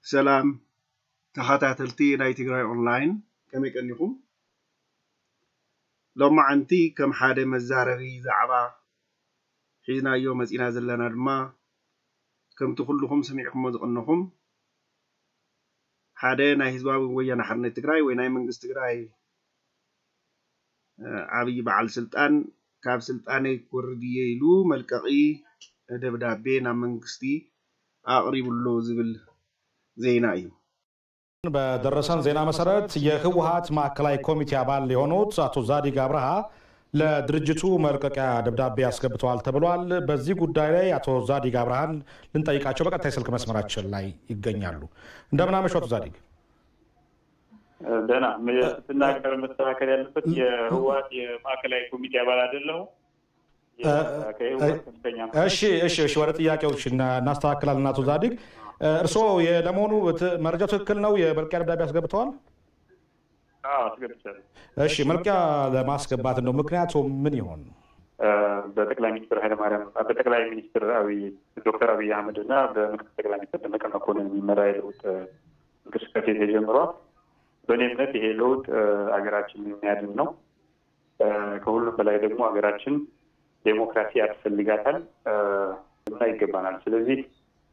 ሰላም ተኸታተልቲ ናይ ትግራይ ኦንላይን፣ ከመይ ቀኒኹም? ሎማዓንቲ ከም ሓደ መዛረቢ ዛዕባ ሒዝናዮ መፂና ዘለና ድማ፣ ከምቲ ኩልኹም ሰሚዕኩሞ ዝቐነኹም፣ ሓደ ናይ ህዝባዊ ወያነ ሓርነት ትግራይ ወይ ናይ መንግስቲ ትግራይ ዓብዪ በዓል ስልጣን ካብ ስልጣነይ ክወርድ እየ ኢሉ መልቀቒ ደብዳቤ ናብ መንግስቲ ኣቕሪቡ ኣሎ ዝብል ዜና እዩ። በደረሰን ዜና መሰረት የህወሓት ማዕከላዊ ኮሚቴ አባል የሆኑት አቶ ዛዲግ አብርሃ ለድርጅቱ መልቀቂያ ደብዳቤ አስገብተዋል ተብሏል። በዚህ ጉዳይ ላይ አቶ ዛዲግ አብርሃን ልንጠይቃቸው በቀጥታ የስልክ መስመራችን ላይ ይገኛሉ። እንደምን አመሹ አቶ ዛዲግ? ደህና። ስትናገር መስተካከል ያለበት የህወሓት የማዕከላዊ ኮሚቴ አባል አይደለሁም። እሺ እሺ እሺ፣ ወደ ጥያቄዎች እናስተካክላለን። አቶ ዛዲግ፣ እርስዎ ለመሆኑ መረጃው ትክክል ነው? የመልቀቂያ ደብዳቤ አስገብተዋል? አዎ አስገብቻለሁ። እሺ፣ መልቀቂያ ለማስገባት እንደው ምክንያቱ ምን ይሆን? በጠቅላይ ሚኒስትር ኃይለማርያም በጠቅላይ ሚኒስትር አብይ ዶክተር አብይ አህመድ እና በምክትል ጠቅላይ ሚኒስትር ደመቀ መኮንን የሚመራ የለውጥ እንቅስቃሴ ተጀምሯል። በእኔ እምነት ይሄ ለውጥ ሀገራችንን የሚያድን ነው። ከሁሉም በላይ ደግሞ ሀገራችን ዴሞክራሲ ያስፈልጋታል እና ይገባናል። ስለዚህ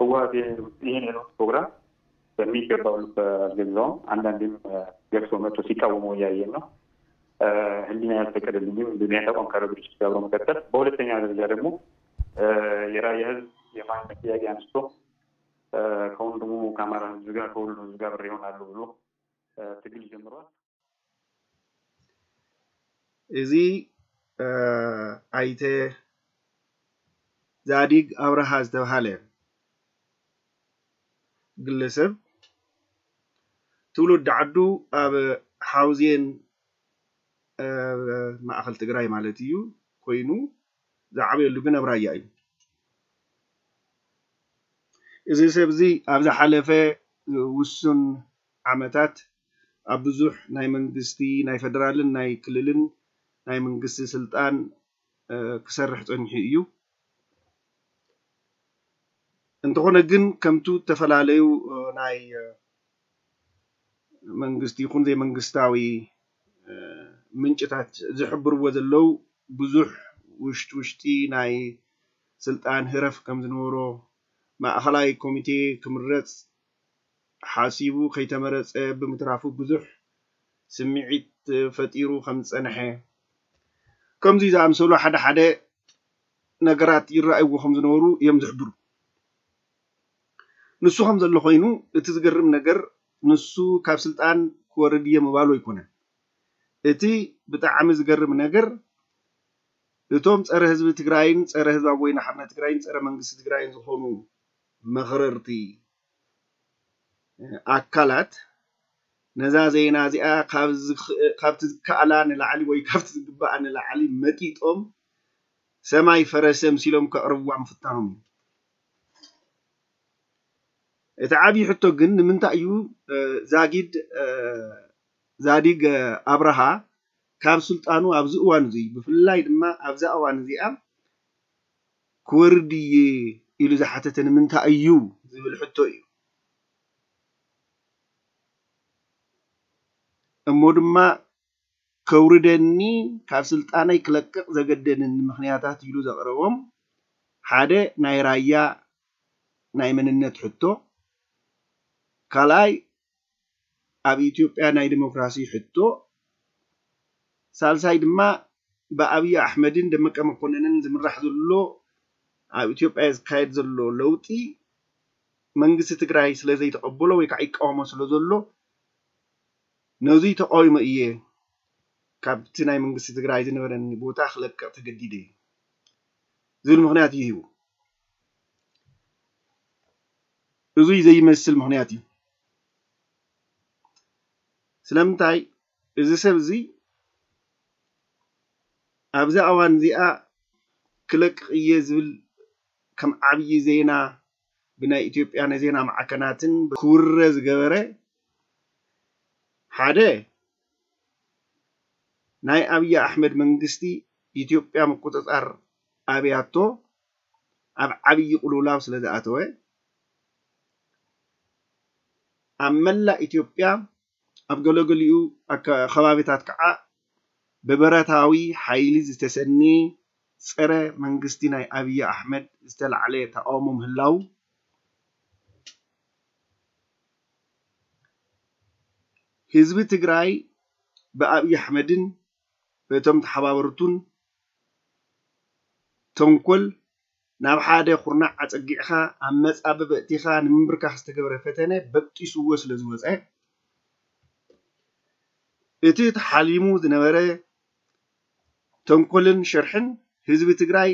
ህወሓት ይህን የለውጥ ፕሮግራም በሚገባው ልብ አልገዛውም። አንዳንዴም ገፍቶ መጥቶ ሲቃወመው እያየን ነው። ህሊና ያልፈቀደልኝም ምክንያት አቋም ካለው ድርጅት ጋር አብሮ መቀጠል። በሁለተኛ ደረጃ ደግሞ የራያ ህዝብ የማንነት ጥያቄ አንስቶ ከወንድሙ ከአማራ ህዝብ ጋር ከሁሉ ህዝብ ጋር አብሬ እሆናለሁ ብሎ ትግል ጀምሯል። እዚ ኣይተ ዛዲግ ኣብርሃ ዝተብሃለ ግለሰብ ትውልዲ ዓዱ ኣብ ሓውዜን ማእኸል ትግራይ ማለት እዩ ኮይኑ ዝዓበየሉ ግን ኣብ ራያ እዩ። እዚ ሰብ እዚ ኣብ ዝሓለፈ ውሱን ዓመታት ኣብ ብዙሕ ናይ መንግስቲ ናይ ፌደራልን ናይ ክልልን ናይ መንግስቲ ስልጣን ክሰርሕ ፀኒሑ እዩ። እንተኾነ ግን ከምቱ ዝተፈላለዩ ናይ መንግስቲ ይኹን ዘይመንግስታዊ ምንጭታት ዝሕብርዎ ዘለዉ ብዙሕ ውሽጢ ውሽጢ ናይ ስልጣን ህረፍ ከም ዝነበሮ ማእኸላይ ኮሚቴ ክምረፅ ሓሲቡ ከይተመረፀ ብምትራፉ ብዙሕ ስምዒት ፈጢሩ ከም ዝፀንሐ ከምዚ ዝኣምሰሉ ሓደ ሓደ ነገራት ይረኣይዎ ከም ዝነበሩ እዮም ዝሕብሩ። ንሱ ከም ዘሎ ኮይኑ እቲ ዝገርም ነገር ንሱ ካብ ስልጣን ክወርድ እየ ምባሉ ኣይኮነን። እቲ ብጣዕሚ ዝገርም ነገር እቶም ፀረ ህዝቢ ትግራይን ፀረ ህዝባዊ ወያነ ሓርነት ትግራይን ፀረ መንግስቲ ትግራይን ዝኾኑ መኽረርቲ ኣካላት ነዛ ዜና እዚኣ ካብቲ ዝከኣላ ንላዕሊ ወይ ካብቲ ዝግባኣ ንላዕሊ መጢጦም ሰማይ ፈረሰ ምሲሎም ከቕርብዋ ምፍታኖም እዩ። እቲ ዓብዪ ሕቶ ግን ንምንታይ እዩ ዛጊድ ዛዲግ ኣብርሃ ካብ ስልጣኑ ኣብዚ እዋን እዚ ብፍላይ ድማ ኣብዛ እዋን እዚኣ ክወርድ እየ ኢሉ ዝሓተተ ንምንታይ እዩ ዝብል ሕቶ እዩ። እሞ ድማ ከውርደኒ ካብ ስልጣነይ ክለቅቕ ዘገደደኒ ምኽንያታት ኢሉ ዘቕረቦም ሓደ ናይ ራያ ናይ መንነት ሕቶ፣ ካልኣይ ኣብ ኢትዮጵያ ናይ ዲሞክራሲ ሕቶ፣ ሳልሳይ ድማ ብኣብይ ኣሕመድን ደመቀ መኮነንን ዝምራሕ ዘሎ ኣብ ኢትዮጵያ ዝካየድ ዘሎ ለውጢ መንግስቲ ትግራይ ስለ ዘይተቐበሎ ወይ ከዓ ይቃወሞ ስለ ዘሎ ነዙይ ተቃዊሞ እየ ካብቲ ናይ መንግስቲ ትግራይ ዝነበረኒ ቦታ ክለቅቕ ተገዲደ ዝብል ምኽንያት እዩ ሂቡ። እዙይ ዘይመስል ምኽንያት እዩ። ስለምንታይ እዚ ሰብ እዚ ኣብዛ እዋን እዚኣ ክለቅቕ እየ ዝብል ከም ዓብዪ ዜና ብናይ ኢትዮጵያ ናይ ዜና ማዕከናትን ክውረ ዝገበረ ሓደ ናይ ኣብይ ኣሕመድ መንግስቲ ኢትዮጵያ ምቁፅፃር ኣብያቶ ኣብ ዓብዪ ቅልውላው ስለ ዝኣተወ፣ ኣብ መላእ ኢትዮጵያ ኣብ ገለገሊኡ ኣከ-፣ ከባቢታት ከዓ ብብረታዊ ሓይሊ ዝተሰነየ ጸረ መንግስቲ ናይ ኣብይ ኣሕመድ ዝተላዕለ ተቃውሞ ምህላው፣ ህዝቢ ትግራይ ብኣብይ ኣሕመድን በቶም ተሓባበርቱን ተንኮል ናብ ሓደ ኩርናዕ ኣጸጊዕኻ ኣብ መጻብብ ኣእቲኻ ንምንብርካኽ ዝተገብረ ፈተነ በጢስዎ ስለ ዝወጸ፣ እቲ ተሓሊሙ ዝነበረ ተንኮልን ሽርሕን ህዝቢ ትግራይ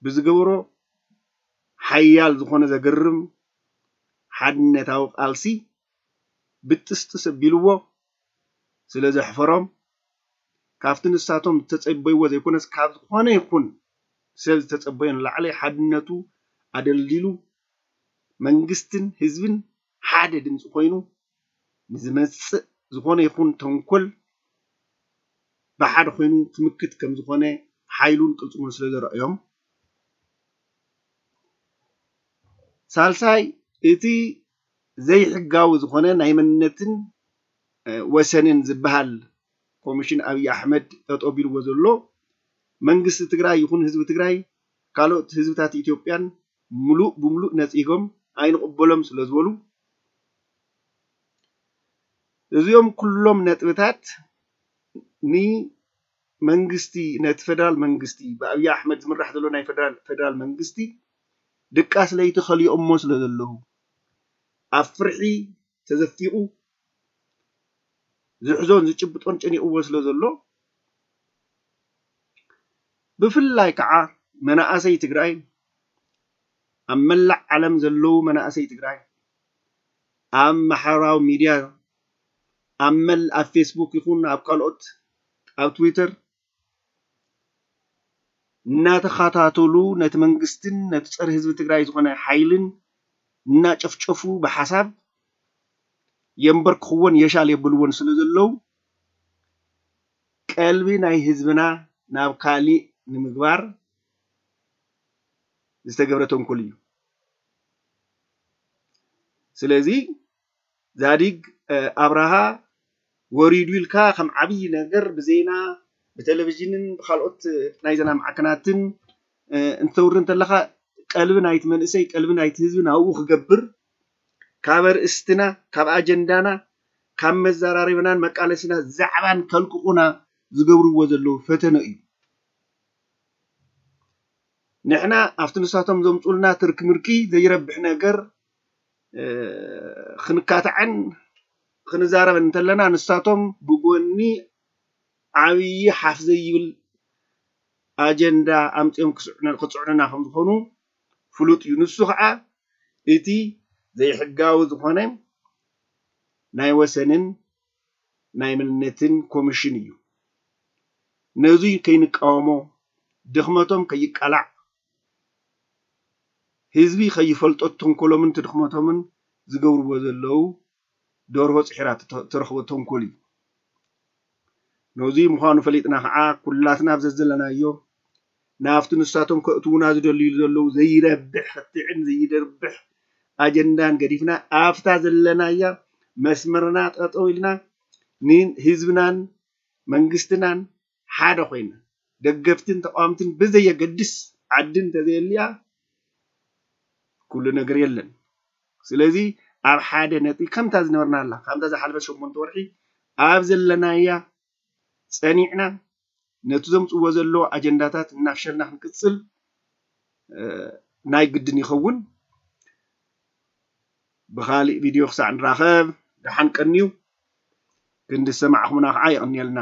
ብዝገበሮ ሓያል ዝኾነ ዘገርም ሓድነታዊ ቃልሲ ብጥስጥስ ኣቢልዎ ስለ ዘሕፈሮም፣ ካብቲ ንሳቶም ዝተጸበይዎ ዘይኮነስ ካብ ዝኾነ ይኹን ሰብ ዝተጸበዮ ንላዕሊ ሓድነቱ ኣደልዲሉ መንግስትን ህዝብን ሓደ ድምፂ ኮይኑ ንዝመፅእ ዝኾነ ይኹን ተንኮል ብሓደ ኮይኑ ክምክት ከም ዝኾነ ሓይሉን ቅልፅሙን ስለ ዘረእዮም። ሳልሳይ፣ እቲ ዘይሕጋዊ ዝኾነ ናይ መንነትን፣ እ፣ ወሰንን ዝበሃል ኮሚሽን ኣብይ ኣሕመድ ጠጠው ቢልዎ ዘሎ መንግስቲ ትግራይ ይኹን ህዝቢ ትግራይ ካልኦት ህዝብታት ኢትዮጵያን ምሉእ ብምሉእ ነጺጎም ኣይንቕበሎም ስለ ዝበሉ፣ እዚኦም ኩሎም ነጥብታት ንመንግስቲ፣ ነቲ ፌደራል መንግስቲ፣ ብኣብይ ኣሕመድ ዝምራሕ ዘሎ ናይ ፌደራል፣ ፌደራል መንግስቲ ድቃስ ለይቲ ከሊኦሞ ስለ ዘለዉ፣ ኣብ ፍርሒ ተዘፊቑ ዝሕዞን ዝጭብጦን ጨኒቕዎ ስለ ዘሎ፣ ብፍላይ ከዓ መናእሰይ ትግራይ፣ ኣብ መላእ ዓለም ዘለዉ መናእሰይ ትግራይ፣ ኣብ ማሕበራዊ ሚድያ፣ ኣብ መል-፣ ኣብ ፌስቡክ ይኹን ኣብ ካልኦት፣ ኣብ ትዊተር እናተኸታተሉ ነቲ መንግስትን ነቲ ጸረ ህዝቢ ትግራይ ዝኾነ ሓይልን እናጨፍጨፉ ብሓሳብ የንበርክኽዎን የሻል የብልዎን ስለ ዘለዉ፣ ቀልቢ ናይ ህዝብና ናብ ካሊእ ንምግባር ዝተገብረ ተንኮል እዩ። ስለዚ ዛዲግ፣ እ፣ ኣብርሃ ወሪዱ ኢልካ ከም ዓብዪ ነገር ብዜና፣ ብቴሌቪዥንን ብካልኦት፣ እ፣ ናይ ዜና ማዕከናትን፣ እ፣ እንተውሪ እንተለኻ፣ ቀልቢ ናይቲ መንእሰይ፣ ቀልቢ ናይቲ ህዝቢ ናብኡ ክገብር፣ ካብ ኣርእስትና፣ ካብ ኣጀንዳና፣ ካብ መዘራረብናን መቃለስና ዛዕባን ከልቅቑና ዝገብርዎ ዘለዉ ፈተነ እዩ። ንሕና ኣብቲ ንሳቶም ዘምጹልና ትርኪ ምርኪ ዘይረብሕ ነገር፣ እ፣ ክንካታዕን ክንዛረብን እንተለና፣ ንሳቶም ብጎኒ ዓብዪ ሓፍ ዘይብል ኣጀንዳ ኣምጺኦም ክጽዕነ-፣ ክጽዕኑና ከም ዝኾኑ ፍሉጥ እዩ። ንሱ ኸዓ እቲ ዘይሕጋዊ ዝኾነ ናይ ወሰንን ናይ መንነትን ኮሚሽን እዩ። ነዙይ ከይንቃወሞ፣ ድኽመቶም ከይቃላዕ፣ ህዝቢ ከይፈልጦ ተንኮሎምን ድኽመቶምን ዝገብርዎ ዘለዉ ደርሆ ጽሒራ ትተ-፣ ትረኽቦ ተንኮል እዩ። ነዙይ ምዃኑ ፈሊጥና ኸዓ ኩላትና ኣብ ዘዘለናዮ ናብቲ ንሳቶም ከእትዉና ዝደልዩ ዘለዉ ዘይረብሕ ክትዕን ዘይደርብሕ ኣጀንዳን ገዲፍና ኣብታ ዘለናያ መስመርና ጠጠው ኢልና ንህዝብናን መንግስትናን ሓደ ኮይና ደገፍትን ተቃወምትን ብዘየገድስ ዓዲ እንተዘየልያ ኩሉ ነገር የለን። ስለዚ ኣብ ሓደ ነጥቢ ከምታ ዝነበርናላ፣ ከምታ ዝሓለፈት ሸሞንተ ወርሒ ኣብ ዘለናያ ጸኒዕና ነቲ ዘምጽዎ ዘለዉ ኣጀንዳታት እናፍሸልና ክንቅጽል፣ እ፣ ናይ ግድን ይኸውን። ብኻሊእ ቪድዮ ክሳዕ ንራኸብ፣ ደሓን ቀንዩ። ክንዲ ዝሰማዕኹምና ከዓ የቐንየልና።